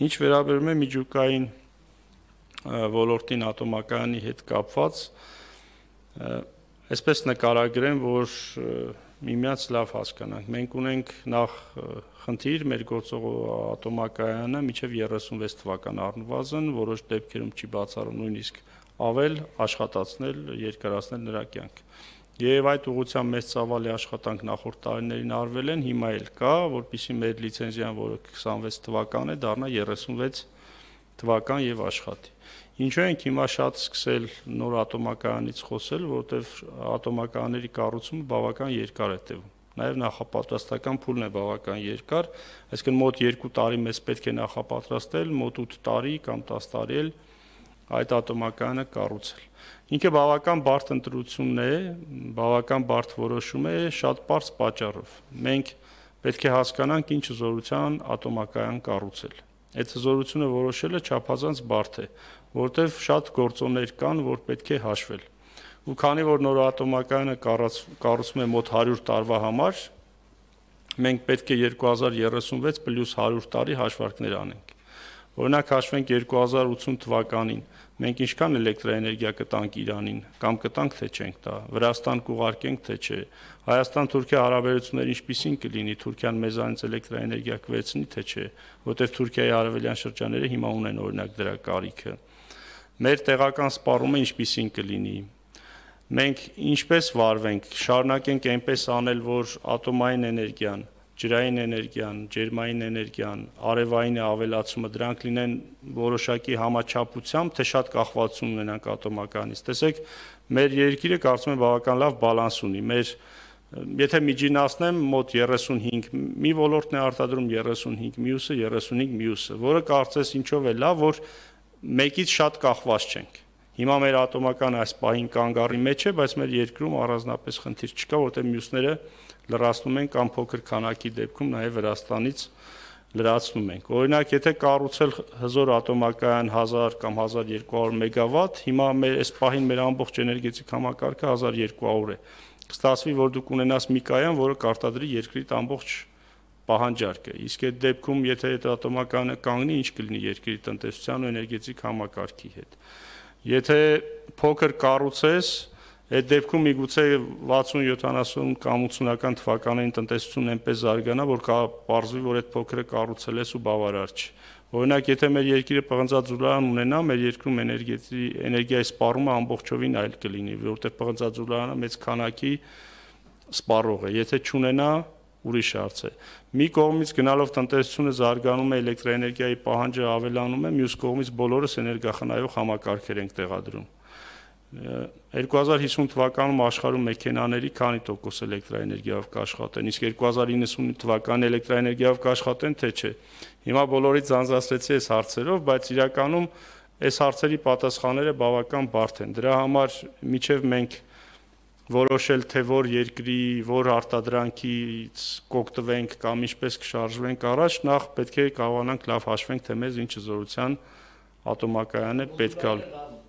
Ինչ վերաբերում է միջուկային ոլորտին ատոմակայանի հետ կապված, այսպես նկարագրեմ, որ միմյանց լավ հասկանանք։ Մենք ունենք նախ խնդիր մեր գործող ատոմակայանը մինչև 36 թվական առնվազն, որոշ դեպքերում չի բացառում նույնիսկ ավել աշխատացնել, երկարացնել նրա կյանքը։ Եվ այդ ուղղությամբ մեծ ծավալի աշխատանք նախորդ տարիներին արվել են, հիմա էլ կա, որպեսզի մեր լիցենզիան, որը 26 թվական է, դառնա 36 թվական եւ աշխատի։ Ինչու ենք հիմա շատ սկսել նոր ատոմակայանից խոսել, որովհետեւ ատոմակայանների կառուցումը բավական երկար է տևում։ Նաեւ նախապատրաստական փուլն է բավական երկար, այսինքն մոտ 2 տարի մեզ պետք է նախապատրաստել, մոտ 8 տարի կամ 10 տարի էլ այդ ատոմակայանը կառուցել։ Ինքը բավական բարդ ընտրություն է, բավական բարդ որոշում է շատ պարզ պատճառով։ Մենք պետք է հասկանանք ինչ զորության ատոմակայան կառուցել։ Այդ զորությունը որոշելը չափազանց բարդ է, որտեղ շատ գործոններ կան, որ պետք է հաշվել։ Ու քանի որ նոր ատոմակայանը կառուցվում է մոտ 100 տարվա համար, մենք պետք է 2036 + 100 տարի հաշվարկներ անենք։ Օրինակ հաշվենք 2080 թվականին մենք ինչքան էլեկտրաէներգիա կտանք Իրանին, կամ կտանք թե չենք տա, Վրաստան կուղարկենք թե չէ, Հայաստան-Թուրքիա հարաբերությունները ինչպիսին կլինի, Թուրքիան մեզանից էլեկտրաէներգիա կվերցնի թե չէ, որտեղ Թուրքիայի արևելյան շրջանները հիմա ունեն օրինակ դրա կարիքը։ Մեր տեղական սպառումը ինչպիսին կլինի։ Մենք ինչպես վարվենք, շարունակենք այնպես անել, որ ատոմային էներգիան, ջրային էներգիան, ջերմային էներգիան, արևային ավելացումը դրանք լինեն որոշակի համաչափությամբ, թե շատ կախվածություն ունենանք ատոմականից։ Տեսեք, մեր երկիրը կարծում եմ բավական լավ բալանս ունի։ Եթե միջինացնեմ մոտ 35, մի ոլորտն է արտադրում 35, մյուսը 35 մյուսը, որը կարծես ինչով է լավ, որ մեկից շատ կախված չենք։ Հիմա մեր ատոմական այս պահին կանգառի մեջ է, բայց մեր երկրում առանձնապես խնդիր չկա, որտեղ մյուսները լրացնում են կամ փոքր քանակի դեպքում նաև Վրաստանից լրացնում ենք։ Օրինակ, եթե կառուցել հզոր ատոմակայան 1000 կամ 1200 մեգավատ, հիմա այս պահին մեր ամբողջ էներգետիկ համակարգը 1200 է։ Կստացվի, որ դուք ունենաս մի կայան, որը կարտադրի երկրի ամբողջ պահանջարկը։ Իսկ այդ դեպքում, եթե այդ ատոմակայանը կանգնի, ինչ կլինի երկրի տնտեսության ու էներգետիկ համակարգի հետ։ Եթե փոքր կառուցես, այդ դեպքում միգուցե 60, 70 կամ 80-ական թվականներին տնտեսությունն այնպես զարգանա, որ պարզվի, որ այդ փոքրը կառուցել ես ու բավարար չի։ Օրինակ, եթե մեր երկիրը պղնձաձուլարան ունենա, մեր երկրում էներգիայի սպառումը ամբողջովին այլ կլինի, որովհետև պղնձաձուլարանը մեծ քանակի սպառող է։ Եթե չունենա, ուրիշ հարց է։ Մի կողմից գնալով տնտեսությունը զարգանում է, էլեկտրաէներգիայի պահանջը ավելանում է, մյուս կողմից բոլորս էներգախնայող համակարգեր ենք տեղադրում։ 2050 թվականում աշխարհում մեքենաների քանի տոկոս էլեկտրաէներգիայով կաշխատեն, իսկ 2090 թվականին էլեկտրաէներգիայով կաշխատեն, թե չէ։ Հիմա բոլորից ձանձրացրեցի այս հարցերով, բայց իրականում այս հարցերի պատասխանները բավական բարդ են։ Դրա համար միջև մենք որոշել, թե որ երկրի, որ արտադրանքից կօգտվենք կամ ինչպես կշարժվենք առաջ, նախ պետք է կարողանանք լավ հաշվենք, թե մեզ ինչ զորության ատոմակայան է պետք է։